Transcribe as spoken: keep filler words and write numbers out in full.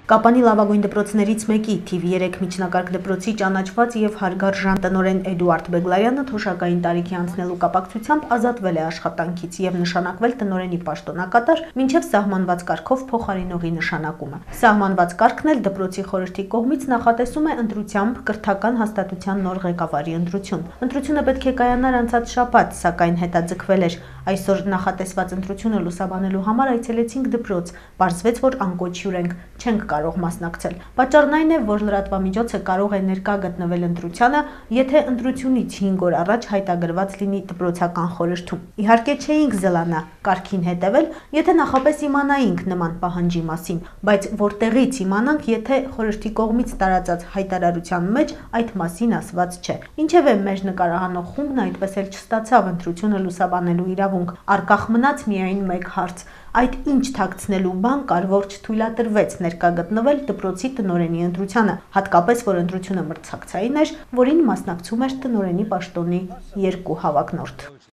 Կապանի լավագույն դպրոցներից մեկի թիվ երեք միջնակարգ դպրոցի ճանաչված եւ հարգարժան տնօրեն Էդուարդ Բեգլարյանը թոշակային տարիքի անցնելու կապակցությամբ ազատվել է աշխատանքից եւ նշանակվել տնօրենի պաշտոնակատար մինչեւ սահմանված կարգով փոխարինողի նշանակումը։ Սահմանված կարգն էլ դպրոցի խորհրդի կողմից նախատեսում է ընտրությամբ կրթական հաստատության նոր ղեկավարի ընտրություն։ Ընտրությունը պետք է կայանար անցած շաբաթ, սակայն հետաձգվել էր։ Այսօր նախատեսված ընտրությունը լուսաբանելու համար այցելեցինք դպրոց, պարզվեց, որ անկոչ հյուր ենք, չենք կարող մասնակցել։ Պատճառն այն է, որ լրատվամիջոցը կարող է ներկա գտնվել ընտրությանը, եթե ընտրությունից հինգ օր առաջ հայտագրված լինի դպրոցական խորհրդում։ Իհարկե չէինք զլանա կարգին հետևել, եթե նախապես իմանայինք նման պահանջի մասին, բայց որտեղից իմանանք, եթե խորհրդի կողմից տարածած հայտարարության մեջ այդ մասին ասված չէ։ Ինչևէ, մեր նկարահանող խումբն այդպես էլ չստացավ ընտրությունը լուսաբանելու իրավունք, առկախ մնաց միայն մեկ հարց. այդ ինչ թաքցնելու բան կար, որ չթույլատրվեց ներկա գտնվել դպրոցի տնօրենի ընտրությանը, հատկապես որ ընտրությունը մրցակցային էր, որին մասնակցում էր տնօրենի պաշտոնի երկու հավակնորդ։